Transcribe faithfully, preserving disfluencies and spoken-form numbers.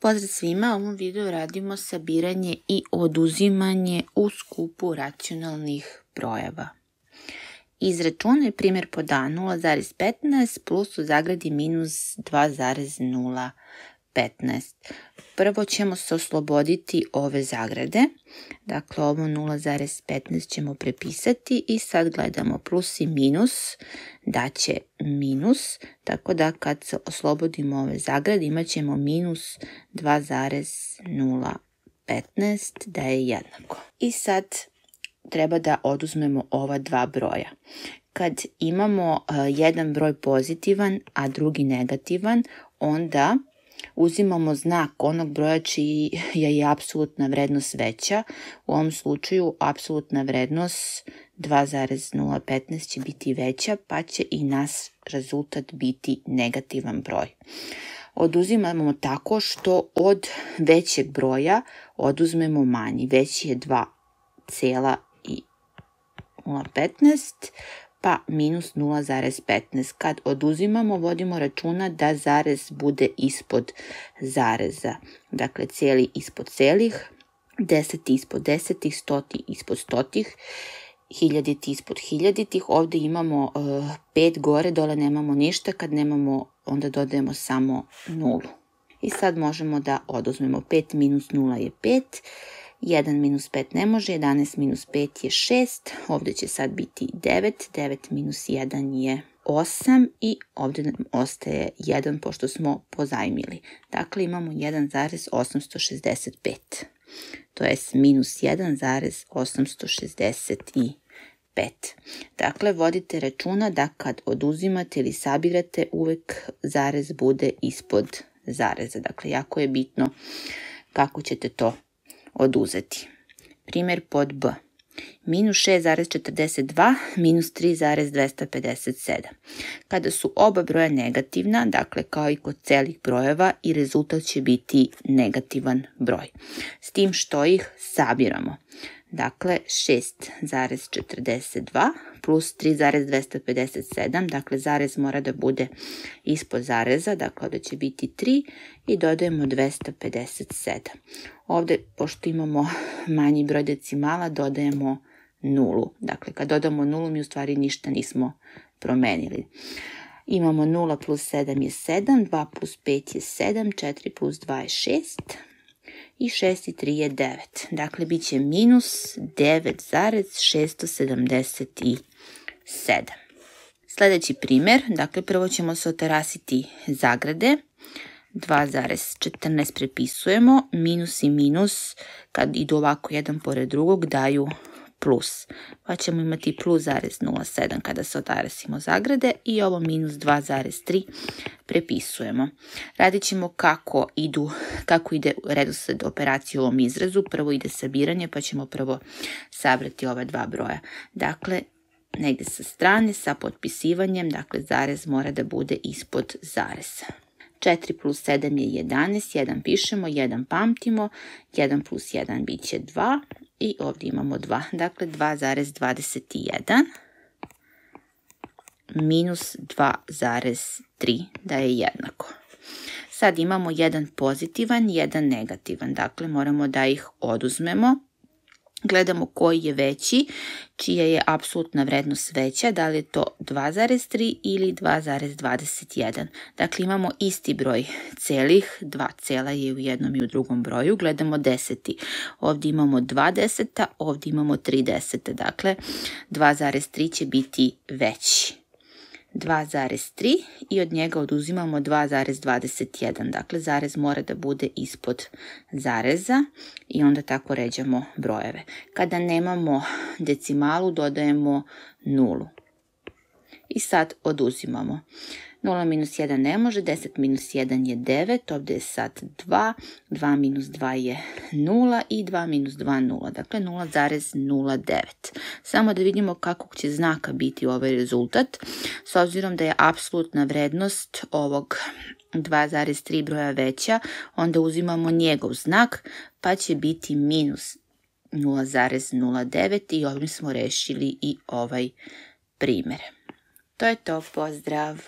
Pozdrav svima, u ovom videu radimo sabiranje i oduzimanje u skupu racionalnih brojeva. Izračunaj primjer pod A nula zarez petnaest plus u zagradi minus dva zarez nula petnaest. Prvo ćemo se osloboditi ove zagrade, dakle ovo nula zarez petnaest ćemo prepisati i sad gledamo plus i minus, daće minus, tako da kad se oslobodimo ove zagrade imat ćemo minus dva zarez nula petnaest da je jednako. I sad treba da oduzmemo ova dva broja. Kad imamo uh, jedan broj pozitivan, a drugi negativan, onda uzimamo znak onog broja čija je apsolutna vrednost veća. U ovom slučaju apsolutna vrednost dva zarez nula petnaest će biti veća, pa će i naš rezultat biti negativan broj. Oduzimamo tako što od većeg broja oduzmemo manji. Veći je dva zarez nula petnaest, pa minus nula zarez petnaest. Kad oduzimamo, vodimo računa da zarez bude ispod zareza. Dakle, cijeli ispod celih, deseti ispod desetih, stoti ispod stotih, hiljaditi ispod hiljaditih. Ovdje imamo uh, pet gore, dole nemamo ništa. Kad nemamo, onda dodajemo samo nulu. I sad možemo da oduzmemo pet minus nula je pet. jedan minus pet ne može, jedanaest minus pet je šest, ovdje će sad biti devet, devet minus jedan je osam i ovdje nam ostaje jedan pošto smo pozajmili. Dakle, imamo jedan zarez osamsto šezdeset pet, to je minus jedan zarez osamsto šezdeset pet. Dakle, vodite računa da kad oduzimate ili sabirate uvek zarez bude ispod zareza. Dakle, jako je bitno kako ćete to oduzeti. Primjer pod B. Minus šest zarez četrdeset dva, minus tri zarez dvesta pedeset sedam. Kada su oba broja negativna, dakle kao i kod celih brojeva, i rezultat će biti negativan broj. S tim što ih sabiramo. Dakle, šest zarez četrdeset dva plus tri zarez dvesta pedeset sedam, dakle zarez mora da bude ispod zareza, dakle ovdje će biti tri i dodajemo dvesta pedeset sedam. Ovdje, pošto imamo manji broj decimala, dodajemo nulu. Dakle, kad dodamo nulu, mi u stvari ništa nismo promenili. Imamo nula plus sedam je sedam, dva plus pet je sedam, četiri plus dva je šest. I šest i tri je devet. Dakle, bit će minus devet zarez šesto sedamdeset sedam. Sljedeći primjer, dakle, prvo ćemo se otarasiti zagrade. dva zarez četrnaest prepisujemo, minus i minus, kad idu ovako jedan pored drugog, daju plus. Pa ćemo imati plus zarez nula sedam kada se otarasimo zagrade i ovo minus dva zarez tri prepisujemo. Radit ćemo kako, idu, kako ide redosled operacije u ovom izrazu. Prvo ide sabiranje, pa ćemo prvo sabrati ova dva broja. Dakle, negdje sa strane, sa potpisivanjem, dakle zarez mora da bude ispod zareza. četiri plus sedam je jedanaest, jedan pišemo, jedan pamtimo, jedan plus jedan bit će dva i ovdje imamo dva, dakle dva zarez dvadeset jedan minus dva zarez tri da je jednako. Sad imamo jedan pozitivan, jedan negativan, dakle moramo da ih oduzmemo. Gledamo koji je veći, čija je apsolutna vrednost veća, da li je to dva zarez tri ili dva zarez dvadeset jedan. Dakle, imamo isti broj celih, dva cela je u jednom i u drugom broju. Gledamo deseti. Ovdje imamo dva deseta, ovdje imamo tri deseta. Dakle, dva zarez tri će biti veći. dva zarez tri i od njega oduzimamo dva zarez dvadeset jedan. Dakle, zarez mora da bude ispod zareza i onda tako ređamo brojeve. Kada nemamo decimalu, dodajemo nulu. I sad oduzimamo. nula minus jedan ne može, deset minus jedan je devet, ovdje je sad dva, dva minus dva je nula i dva minus dva nula, dakle nula zarez nula devet. Samo da vidimo kakvog će znaka biti ovaj rezultat. S obzirom da je apsolutna vrednost ovog dva zarez tri broja veća, onda uzimamo njegov znak, pa će biti minus nula zarez nula devet i ovim smo rešili i ovaj primjer. To je to, pozdrav!